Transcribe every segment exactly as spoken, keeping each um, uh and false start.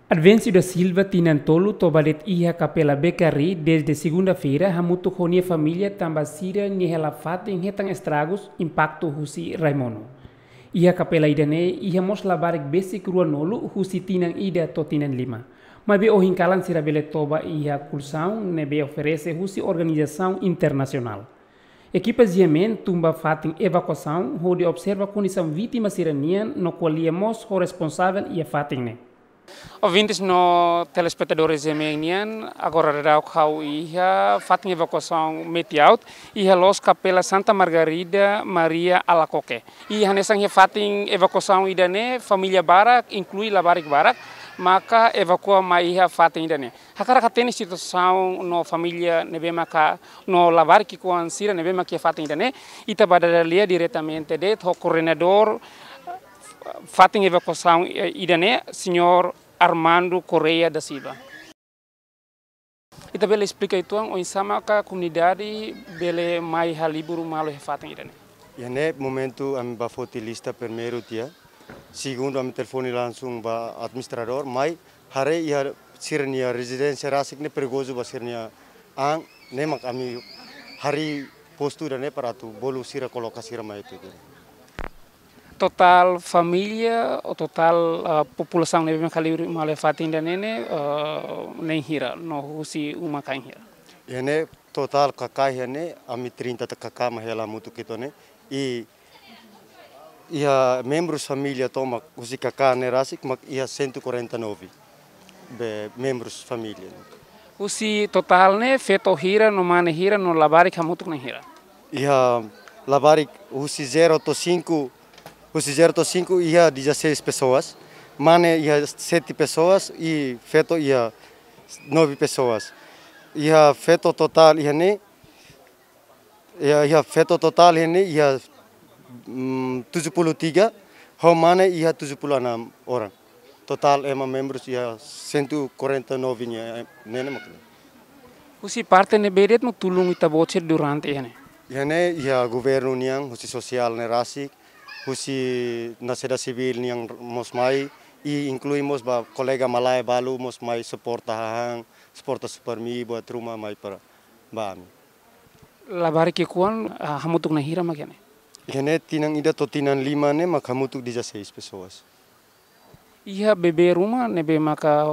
Advencio da Silva, tinan tolu, toba de'it iha Kapela Becari dezde segunda-feira hamutuk ho nia família tanba sira-nia hela-fatin hetan estragus impaktu husi rai-monu. Iha kapela ida-ne'e iha mós labarik besik ruanulu husi tinan ida to'o tinan lima. Maibé ohin kalan sira bele toba iha kolxaun ne'ebé oferese husi organizasaun internasionál. Ekipa G M N tun ba fatin evakuasaun hodi observa kondisaun vítima sira-nian no ko'alia mós ho responsavel iha fatin ne'e. Ouvintes no telespetadores G M N nian, agora daudaun ha'u iha fatin evakuasaun Metiaut, iha loos Kapela Santa Margarida Maria Alacoque. I hanesan iha fatin evakuasaun ida-ne'e, família barak, inklui labarik barak, maka evakua mai iha fatin ida-ne'e. Hakarak hatene situasaun no família ne'ebé maka no labarik ki'ikoan sira ne'ebé maka iha fatin ida-ne'e, ita bá dada lia diretamente de'it ho koordenadór fatin evakuasaun, eh, ida-ne'e, señór Armando Correia da Silva. Ita bele esplika uitoan oinsá maka komunidade bele mai halibur malu iha fatin ida-ne'e? Iha ne'e momentu ami bá foti lista primeiru tiha. Segundu ami telefone langsung ba administradór, mai haree iha sira-nia rezidénsia rasik ne'e perigozu ba sira-nia an, ne'e mak ami harii postu ida-ne'e para atu bolu sira koloka sira mai tutu. Totál família, ou totál, ah, populasaun ne'ebé mak halibur malu iha fatin ida-ne'e ne'e, ah, na'in hira, no husi uma kain hira? Iha ne'e totál kaká iha ne'e, ami trinta ta kaká mak hela hamutuk uitoan ne'e. I iha membrus família tomak husi kaká ne'e rasik mak iha cento e quarenta e nove be membrus família. Husi totál ne'e feto hira no mane hira no labarik hamutuk na'in hira? Iha labarik husi zero to'o cinco, husi zero to'o cinco iha dezasseis pessoas, mane iha sete pessoas i feto iha nove pessoas. Iha feto totál iha ne'e, iha, iha feto totál iha ne'e iha, mm, tujuh puluh tiga, ho mane iha tujuh puluh enam orang. Totál ema membrus iha cento e quarenta e nove nian, eh, ne'e ne'e mak ne'e. Husi parte ne'ebé de'it mak tulun ita-boot sira durante iha ne'e? Iha ne'e iha governu nian, husi sosiál ne'e rasik, husi sosiedade sivíl nian mós mai, i inklui mós ba kolega malae balu mós mai suporta hahán, suporta Supermi buat ruma mai para ba ami. Labarik ki'ikoan, ah, hamutuk na'in hira mak iha ne'e? Iha ne'e tinan ida to'o tinan lima ne'e mak hamutuk dezasseis pessoas. Iha bebé ruma ne'ebé maka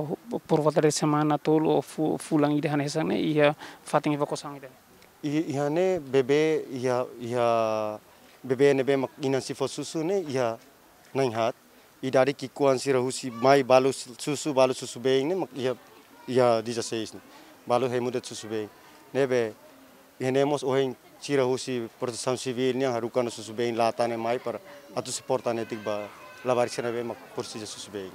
por volta de semana tolu ou fu-, fulan ida hanesan ne'e iha fatin evakuasaun ida-ne'e? I-, iha ne'e bebé iha, iha bebé ne'ebé mak inan sei fó susu ne'e iha na'in haat. Idade ki'ikoan sira husi mai balu susu, balu susu-been ne'e mak iha, iha dezasseis ne'e. Balu hemu de'it susu-been. Ne'ebé iha ne'e mós ohin sira husi Protesaun Sivíl nian haruka ona susu-been lata ne'e mai para atu suporta netik ba labarik sira ne'ebé mak presiza susu-been.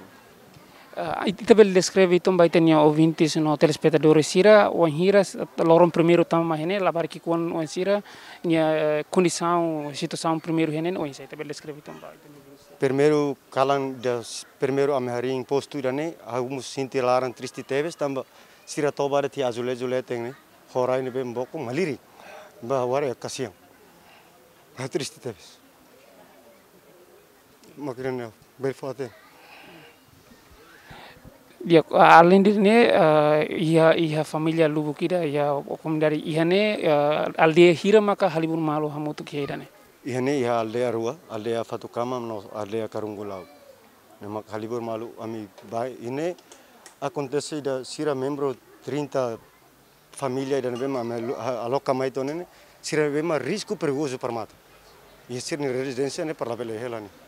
Ah, ita bele deskreve uitoan ba ita-nia ouvintes no telespetadores sira, wainhira loron primeiru tama mai iha ne'e, labarik ki'ikoan oinsá sira-nia, eh, kondisaun, situasaun primeiru iha ne'e, oinsá ita bele deskreve uitoan ba ita-nia ouvintes? Primeiru kalan ida, primeiru ami harii postu ida-ne'e, ha'u mós sente laran triste tebes, tanba sira toba de'it azuleju leten ne'e, ho rai ne'ebé bokur malirin, ba wainhira kasian. Ah, triste tebes. Mak ne'e, bele fó hatene. Di'ak, aleinde ne'e, eh, iha, iha família lubuk ida, iha komunidade iha ne'e, eh, aldeia hira maka halibur malu hamutuk iha ida-ne'e? Iha ne'e iha aldeia rua, aldeia Fatukama no aldeia Karungulau. Ne'e mak halibur malu ami bá iha ne'e, akontese ida sira membru trinta família ida ne'ebé mak ami lu-, ha-, aloka mai uitoan ne'e, sira ne'ebé mak risku perigozu para mate. I sira-nia rezidénsia ne'e para labele hela ne'e.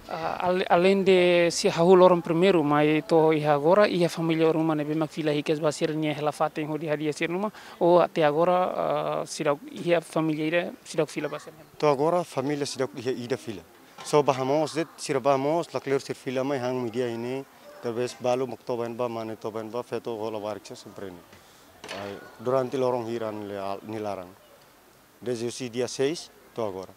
Ah, ale-, aleinde sira hahú loron primeiru mai to'o iha agora, iha família ruma ne'ebé mak fila hikas ba sira-nia hela-fatin hodi hadi'a sira-nia uma, ou até agora, ah, seidauk iha família ida seidauk fila ba sira-nia uma? To'o agora família seidauk iha ida fila. Só bá hamoos de'it, sira bá hamoos, lakleur sira fila mai han media iha ne'e, talvés balu mak toba iha ne'ebá, mane toba iha ne'ebá, feto ho labarik sira sempre iha ne'e. Ai, durante loron hira nia la-, nia laran. Dezde husi dia seis to'o agora.